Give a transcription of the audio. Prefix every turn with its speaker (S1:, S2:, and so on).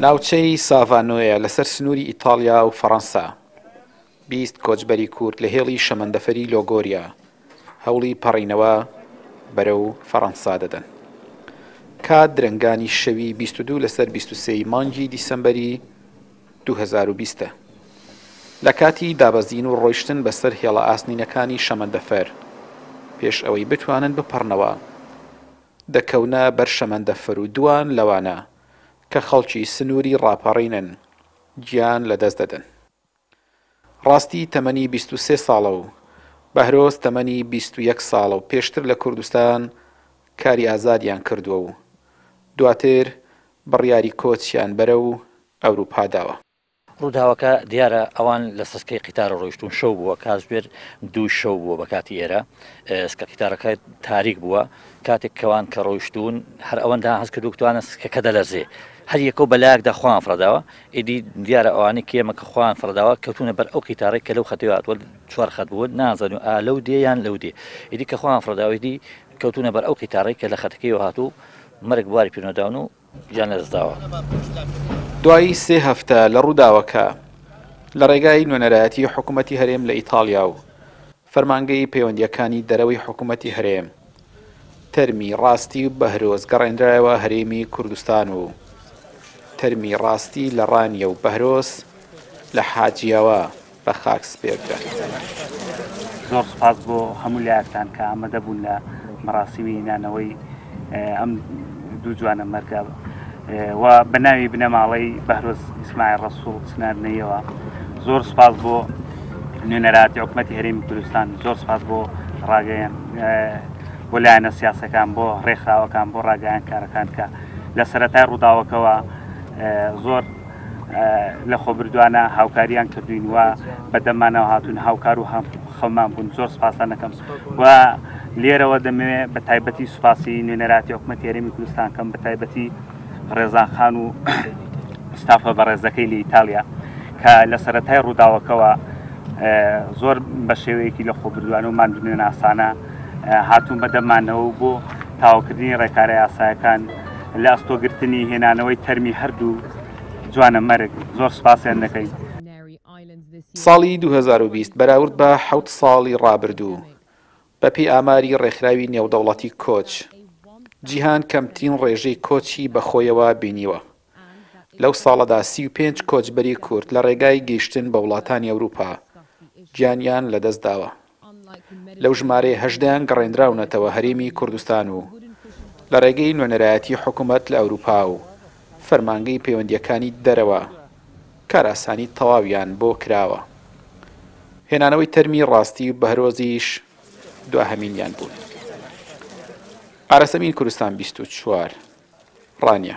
S1: ناوچەی ساڤانۆیە لەسەر سنووری ئیتاڵیا و فەڕەنسا، 20 کۆچبەری کورد لە هێڵی شەمەندەفەری لۆگۆریا هەوڵی پەڕینەوە بەرەو فەڕەنسا دەدەن. کات درەنگانی شەوی 22 لەسەر 23 ی مانگی دیسەمبەری 2020 ە. لە کاتی دابەزین و ڕۆیشتن بەسەر هێڵە ئاسنینەکانی شەمەندەفەر، پێش ئەوەی بتوانن بپەڕنەوە، دەکەونە بەر شەمەندەفەر و دووان لەوانە کە خەڵکی سنووری ڕاپەڕینن گیان لەدەست دەدەن. ڕاستی تەمەنی 23 ساڵە و بەهرۆز تەمەنی 21 ساڵە و پێشتر لە کوردستان کاری ئازادیان کردووە و دواتر بڕیاری کۆچیان بەرەو ئەوروپا داوە.
S2: ڕووداوەکە دیارە ئەوان لە سسکەی قیتارە ڕۆیشتوون شەو بووە کاتژمێر دوو شەو بووە بە کاتی ئێرە سکە قیتارەکە تاریک بووە کاتێک کەوان کە ڕۆیشتوون هەر ئەوەندە هەست کردو توانە سکەکە دەلەرزێ هەر یەکەو بەلایەکدا خۆیان فڕداوە ئیدی دیارە ئەوانەی کێمە کە خۆیان فڕداوە کەوتونە بەر ئەو قیتارەی کە لەو خەتەوە هاتووە چوار خەت بووە نازانن ئا لەو دێ یان لەو دێ ئیدی کە خۆیان فڕداوە ئیدی کەوتونە بەر ئەو قیتارەی کە لە خەتەکەیەوە هاتوو مەرگ بواری پێنەداون و گیان لەدەستداوە.
S1: دوای سێ هەفتە لە ڕووداوەکە، لە ڕێگای نوێنەرایەتی حکومەتی هەرێم لە ئیتاڵیا و فەرمانگەی پەیوەندییەکانی دەرەوەی حکومەتی هەرێم، تەرمی ڕاستی و بەهرۆز گەڕێنرایەوە هەرێمی کوردستان و تەرمی ڕاستی لە ڕانیە و بەهرۆز لە حاجیاوا بە خاک سپێردرا.
S3: زۆر سوپاس بۆ هەموو لایەکتان کە ئامادە بوون لە مەراسیمی نانەوەی ئەم دوو جوانە مەرگە و بە ناوی بنەماڵەی بەهرۆز ئیسماعیل ڕەسوڵ چنارنەیەوە زۆر سوپاس بۆ نوێنەراتی حکوومەتی هەرێمی کوردستان زۆر سوپاس بۆ ڕاگەیان بۆ لایەنە سیاسەکان بۆ ڕێکخراوەکان بۆ ڕاگەیانکارەکان کە لە سەرەتای ڕووداوەکەوە زۆر لەخۆبردوانە هاوکاریان کردوین و بەدەمانەوە هاتوون هاوکار و خەمان بوون زۆر سپاسان دەکەم و لێرەوە دەمەوێ بە تایبەتی سوپاسی نوێنەراتی حکومەتی هەرێمی کوردستان کەم بە تایبەتی ڕێزان خان و ستافە بەڕێزەکەی لە ئیتالیا کە لە سەرەتای ڕووداوەکەوە زۆر بە شێوەیەکی لە خۆبردوانە و ماندوونەناسانە هاتوون بەدەمانەوە بۆ تاوکردنی ڕێکارە یاسایەکان لە ئەستۆگرتنی هێنانەوەی تەرمی هەردوو جوانە مەرگ زۆر سوپاسیان دەکەین.
S1: ساڵی 2020 بەراورد بە حەوت ساڵی ڕابردوو، بەپێی ئاماری ڕێکخراوی نێودەوڵەتی کۆچ، جیهان کەمترین ڕێژەی کۆچی بەخۆیەوە بینیوە. لەو ساڵەدا 35 کۆچبەری کورد لە ڕێگای گەیشتن بە وڵاتانی ئەوروپا گیانیان لەدەستداوە. لەو ژمارەیە هەژدەیان گەڕێنراونەتەوە هەرێمی کوردستان و لە ڕێگەی نوێنەرایەتی حکومەت لە ئەوروپا و فەرمانگەی پەیوەندییەکانی دەرەوە کارئاسانی تەواویان بۆ کراوە. هێنانەوەی تەرمی ڕاستی و بەهرۆزیش دواهەمینیان بوون. ئارەسەمین کوردستان 24، ڕانیە.